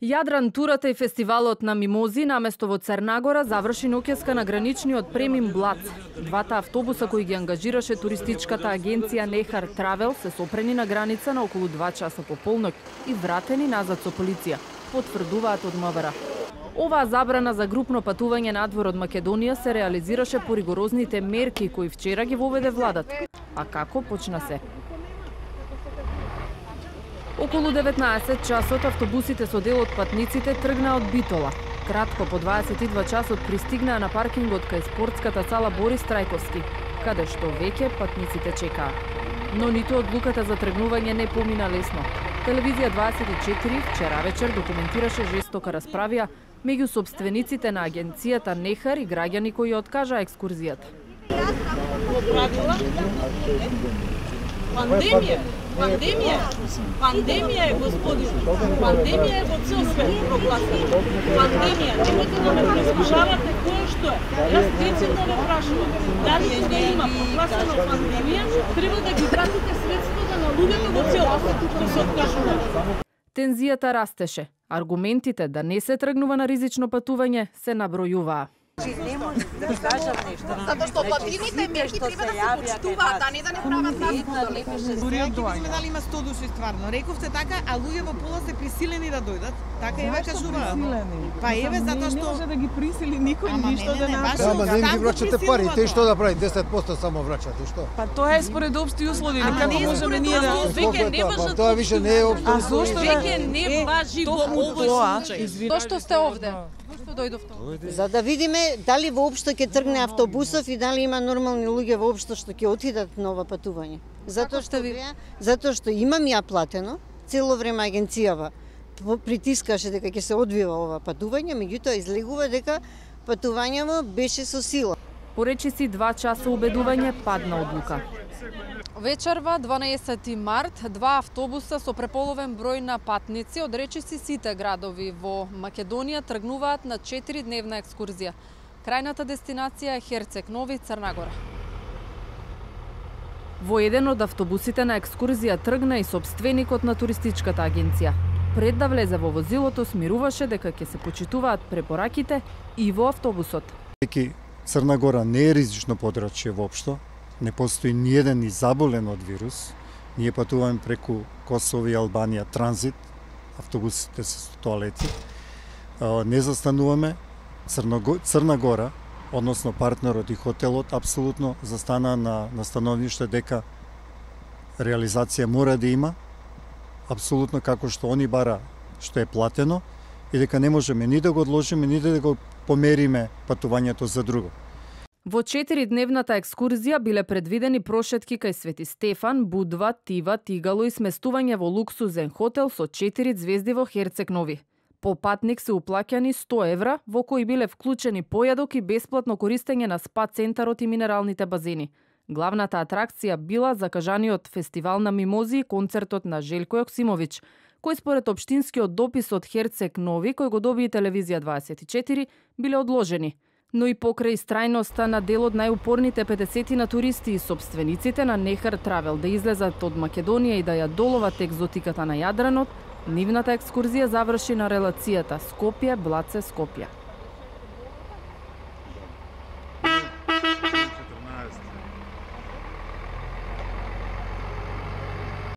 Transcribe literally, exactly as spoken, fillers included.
Јадран турата и фестивалот на мимози наместо во Црнагора заврши ноќеска на граничниот премин Блац. Двата автобуса кои ги ангажираше туристичката агенција Нехар Травел се сопрени на граница на околу два часа по полноќ и вратени назад со полиција, потврдуваат од МВР. Оваа забрана за групно патување надвор од Македонија се реализираше по ригорозните мерки кои вчера ги воведе владата. А како почна се? Околу деветнаесет часот автобусите со дел од патниците тргнаа од Битола. Кратко по дваесет и два часот пристигнаа на паркингот кај спортската сала Борис Трајковски, каде што веќе патниците чекаа. Но ниту одлуката за тргнување не помина лесно. Телевизија дваесет и четири вчера вечер документираше жестока расправија меѓу собствениците на агенцијата Нехар и граѓани кои откажаа екскурзијата. Пандемија, пандемија, пандемија е, господи, пандемија е во цел свет прогласена. Пандемија, немојте да ме прескажавате кое што е. Јас децидно ве прашувам, дали кога има прогласена пандемија, треба да ги вратите средствата на луѓето во целост, што се откажуваат. Тензијата растеше. Аргументите да не се тргнува на ризично патување се набројуваа. Не може да ви кажам нешто. Затоа што пативните мерки треба да се почитуваат, а не да не прават разговор. Дури видиме дали има сто души стварно. Рековте така, а луѓе во пола се присилени да дојдат. Така еве кажуваат. Па еве затоа што не може да ги присили никој ништо да направи. Ама не ги враќате пари, те што да прави? десет проценти само враќате, што? Па тоа е според општи услови, како можеме ние да веќе не важат. Тоа више не е општи А услови. зошто Веќе не важи во овој случај. Зошто сте овде? Зошто дојдовте? За да видиме дали воопшто ќе тргне автобусов и дали има нормални луѓе воопшто што ќе отидат на ова патување. Затоа што ви затоа што имам ја платено, цело време агенцијава притискаше дека ќе се одвива ова патување, меѓутоа излегува дека патувањето беше со сила. Поречиси два часа убедување падна одлука. Вечерва, дванаесети март, два автобуса со преполовен број на патници од речиси сите градови во Македонија тргнуваат на четиридневна екскурзија. Крајната дестинација е Херцег Нови, Црнагора. Во еден од автобусите на екскурзија тргна и собственикот на туристичката агенција. Пред да влезе во возилото, смируваше дека ќе се почитуваат препораките и во автобусот. Деки Црнагора не е ризично подрачје воопшто, не постои ниеден и заболен од вирус. Ние патуваме преку Косово и Албанија транзит, автобусите се со тоалети. Не застануваме. Црна Гора, односно партнерот и хотелот, апсолутно застана на, на становиште дека реализација мора да има, апсолутно како што они бара што е платено, и дека не можеме ни да го одложиме, ни да го помериме патувањето за друго. Во четиридневната екскурзија биле предвидени прошетки кај Свети Стефан, Будва, Тива, Тигало и сместување во луксузен хотел со четири звезди во Херцег Нови. По патник се уплаќани сто евра, во кои биле вклучени појадок и бесплатно користење на спа центарот и минералните базени. Главната атракција била закажаниот фестивал на мимози и концертот на Желко Јоксимовиќ, кој според општинскиот допис од Херцег Нови, кој го доби и телевизија дваесет и четири, биле одложени. Но и покрај страјноста на дел од најупорните петдесет на туристи и собствениците на Нехар Травел да излезат од Македонија и да ја доловат екзотиката на Јадранот, нивната екскурзија заврши на релацијата Скопје-Блаце-Скопје.